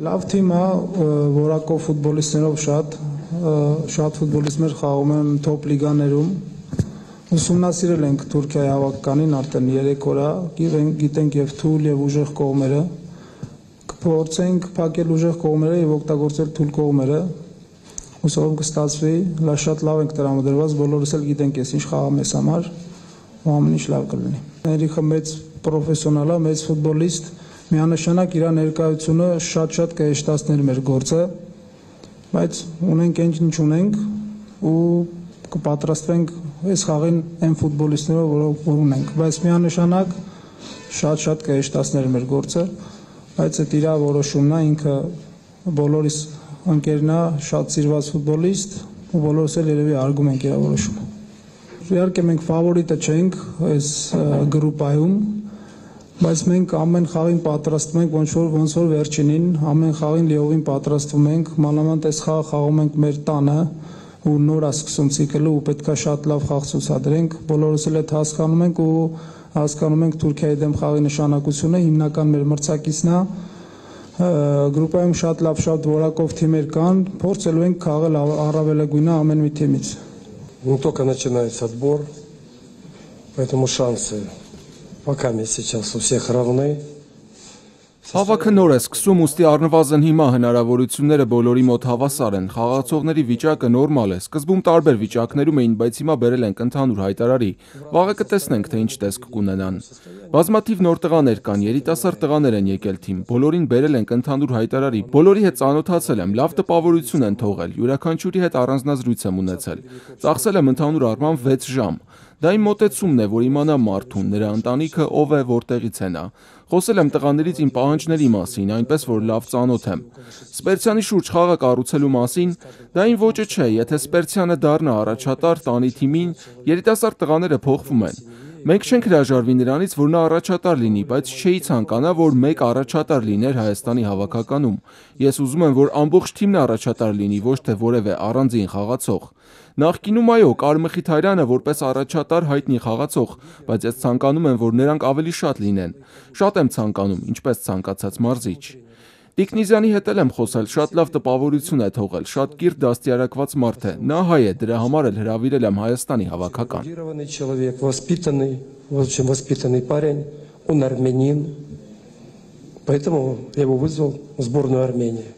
Լավ թիմ է, որակով ֆուտբոլիստներով շատ ֆուտբոլիստներ խաղում են թոփ լիգաներում։ Ուսումնասիրել ենք Թուրքիայի հավաքականին արդեն 3 օր է, գիտենք եւ թույլ եւ ուժեղ կողմերը։ Կփորձենք փակել ուժեղ կողմերը եւ օգտագործել թույլ կողմերը։ Հուսով կստացվի, շատ լավ ենք տրամադրված, բոլորս էլ գիտենք ես ինչ խաղա մեզ համար, ու ամեն ինչ լավ կլինի։ Ներիքը մեծ պրոֆեսիոնալ է, մեծ ֆուտբոլիստ, միանշանակ իր ներկայությունը շատ կհեշտացներ մեր գործը, բայց ունենք ինչ ունենք ու կպատրաստվենք այս խաղին այն ֆուտբոլիստներով, որ ունենք, բայց միանշանակ շատ կհեշտացներ մեր գործը, բայց այդ իր որոշումն է, ինքը բոլորիս ընկերն է, շատ սիրված ֆուտբոլիստ ու բոլորս էլ երևի արգում ենք իր որոշումը։ Իհարկե մենք ֆավորիտը չենք այս գրուպայում, բայց մենք ամեն խաղին պատրաստվում ենք, ոնց որ վերջինին, ամեն խաղին լիովին պատրաստվում ենք, մանավանդ այս խաղը խաղում ենք մեր տանը ու նոր է սկսում ցիկլը ու պետքա շատ լավ խաղ ցուցադրենք, բոլորս էլ այդ հասկանում ենք ու հասկանում ենք Թուրքիայի դեմ խաղի նշանակությունը, հիմնական մեր մրցակիցն է, գրուպայում շատ լավ, շատ որակով թիմեր կան, փորձելու ենք խաղալ առավելագույնը ամեն մի թիմից։ Не только начинается отбор, поэтому шансы пока сейчас у всех равны. Հավաքը նոր է սկսում, ուստի առնվազն հիմա հնարավորությունները բոլորի մոտ հավասար են, խաղացողների վիճակը նորմալ է, սկզբում տարբեր վիճակներում էին, բայց հիմա բերել ենք ընդհանուր հայտարարի, վաղը կտեսնենք, թե ինչ տեսք կունենան։ Բազմաթիվ նոր տղաներ կան, երիտասարդ տղաներ են եկել թիմ, բոլորին բերել ենք ընդհանուր հայտարարի, բոլորի հետ ծանոթացել եմ, լավ տպավորություն են թողել, յուրաքանչյուրի հետ առանձնազրույց եմ ունեցել, ծախսել եմ ընդհանուր առմամբ 6 ժամ։ Դա իմ մոտեցումն է, որ իմանամ մարդուն, նրա ընտանիքը ով է, որտեղից է նա։ Խոսել եմ տղաներից իմ պահանջների մասին, այնպես որ լավ ծանոթ եմ։ Սպերցյանի շուրջ խաղը կառուցելու մասին, դա իմ ոճը չէ, եթե Սպերցյանը դառնա առաջատար տանի թիմին, երիտասարդ տղաները փոխվում են։ Մենք չենք հրաժարվի նրանից, որ նա առաջատար լինի, բայց չէի ցանկանա, որ մեկ առաջատար լիներ Հայաստանի հավաքականում։ Ես ուզում եմ, որ ամբողջ թիմն առաջատար լինի, ոչ թե որևէ առանձին խաղացող։ Նախկինում այո, կար Մխիթարյանը որպես առաջատար հայտնի խաղացող, բայց ես ցանկանում եմ, որ նրանք ավելի շատ լինեն։ Շատ եմ ցանկանում, ինչպես ցանկացած մարզիչ։ Տիկնիզյանի հետ էլ եմ խոսել, շատ լավ տպավորություն է թողել, շատ կիրթ դաստիարակված մարդ է, նա հայ է, դրա համար էլ հրավիրել եմ Հայաստանի հավաքական։ Человек воспитанный, очень воспитанный парень, он армянин, поэтому я его вызвал в сборную Армении.